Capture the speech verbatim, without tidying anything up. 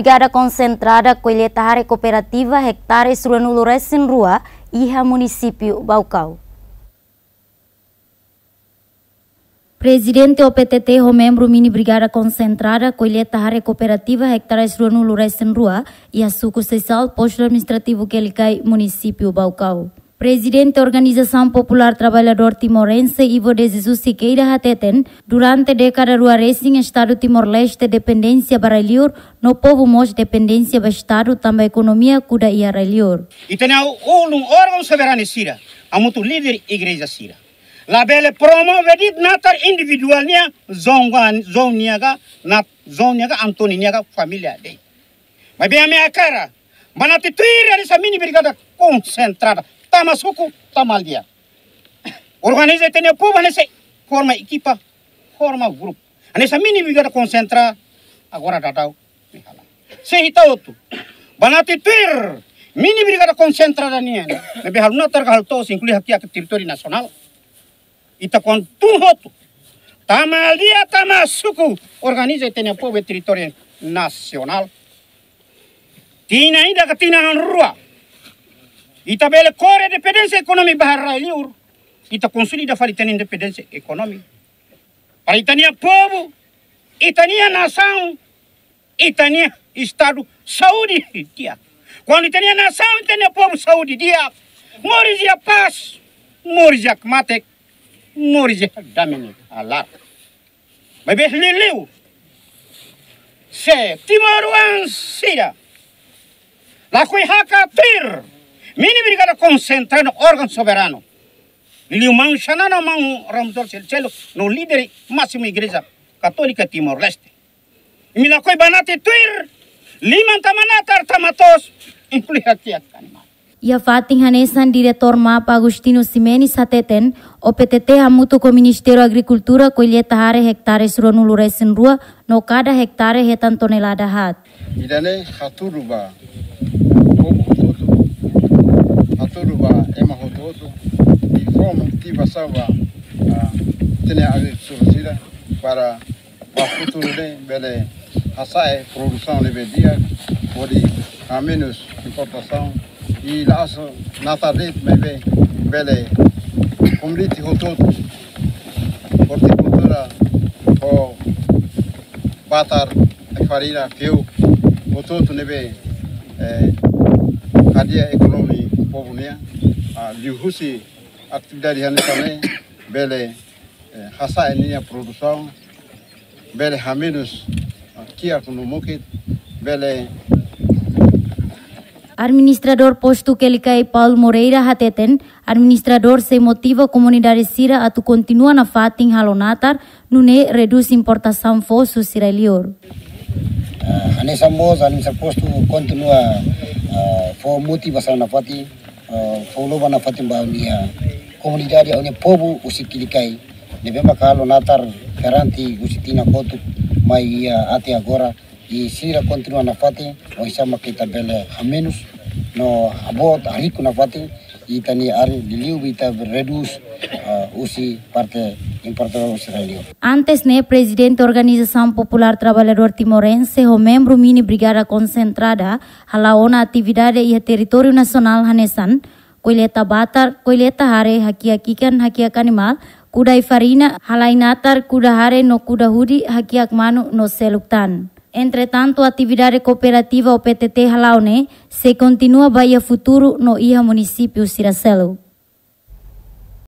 Brigada Konsentrada Kolleita Hare Kooperativa hektares ruanulu resin rua iha munisípiu Baucau. Prezidente O P T T ho membru Mini Brigada Konsentrada Kolleita Hare Kooperativa hektares ruanulu resin rua iha suku Sesal, postu administrativu Quelicai, munisípiu Baucau. Prezidente Organizasaun Populár Traballadór Timorense, Ivo de Jesus Sequeira, hateten, durante dékada rua resin, Estadu Timor-Leste dependénsia ba rai-liur, no povu mós dependénsia ba Estadu tanba ekonomia kuda iha rai-liur. Ita-nia ulun órgaun soberanu sira, hamutuk líder igreja sira, labele promove de'it natar individuál nian, João, João nian ka, nat-, João nian ka, António nian ka, família de'it. Maibé ami hakarak banati tuir hanesan Mini Brigada Konsentrada, tama suku, tama aldeia. Organiza ita-nia povu hanesan forma ekipa, forma grupu. Hanesan Mini Brigada Konsentrada, agora daudaun, sei ita hotu banati tuir Mini Brigada Konsentrada nian, ne'ebé halo natar ka halo to'os, inklui hakiak territóriu nasionál. Ita kontu hotu, tama aldeia, tama suku, organiza ita-nia povu iha territóriu nasionál. Tinan ida ka tinan rua, ita bele kore dependénsia ekonómika ba rai-liur, ita konsolida fali ita-nia independénsia ekonómika. Para ita-nia povu, ita-nia nasaun, ita-nia Estadu saúde di'ak. Kuandu ita-nia nasaun, ita-nia povu saúde di'ak, moris iha pás, moris iha kmatek, moris iha dame nia laran. Maibé liuliu, se timoroan sira lakohi hakat tuir Mini Brigada Konsentrada órgaun soberanu, liuliu maun Xanana, maun Ramos Horta, selu-seluk, no líder másimu Igreja Katólika Timor-Leste, imi lakohi banati tuir, liman tama natar, tama to'os, inklui hakiak animál. Iha fatin hanesan, Diretór MAP Agostinho Ximenes hateten, O P T T hamutuk ho Ministériu Agrikultura kolleita hare hektares ruanulu resin rua, no kada hektare hetan tonelada haat. Ida-ne'e hatudu ba povu hotu-hotu, hatudu ba ema hotu-hotu, i fó motivasaun ba, ah, ita-nia agrikultór sira para ba futuru ne'e bele hasa'e produsaun ne'ebé di'ak, hodi hamenus importasaun, i la'ós natar de'it maibé bele komoditi hotu-hotu, ortikultura ho batar, farina, fiuk, hotu-hotu ne'ebé, eh, hadi'a ekonomia povu nian, ah, liuhusi atividade hanesan ne'e bele, eh, hasa'e ninia produsaun, bele hamenus, ah, kiak no mukit, bele. Administradór postu Quelicai, Paulo Moreira, hateten, administradór sei motiva komunidade sira atu kontinua nafatin halo natar, nune'e redús importasaun foos husi rai-liur. Ah, hanesan mós administradór postu kontinua, ah, fó motivasaun nafatin, ah, fó loba nafatin ba ha'u-nia komunidade, ha'u-nia povu husi Quelicai, ne'ebé maka halo natar perante husi tinan kotuk mai iha até agora, i sira kontinua nafatin, oinsá maka ita bele hamenus no haboot, hariku nafatin ita-nia arin, liuliu ita redús, ah, husi parte importadór husi rai-liur. Antes ne'e, Prezidente Organizasaun Populár Traballadór Timorense ho membru Mini Brigada Konsentrada hala'o ona atividade iha territóriu nasionál hanesan kolleita batar, kolleita hare, hakiak ikan, hakiak animál, kuda ai-farina, halai natar, kuda hare no kuda hudi, hakiak manu no seluk tan. Entretantu, atividade kooperativa O P T T hala'o ne'e sei kontinua ba iha futuru no iha munisípiu sira seluk.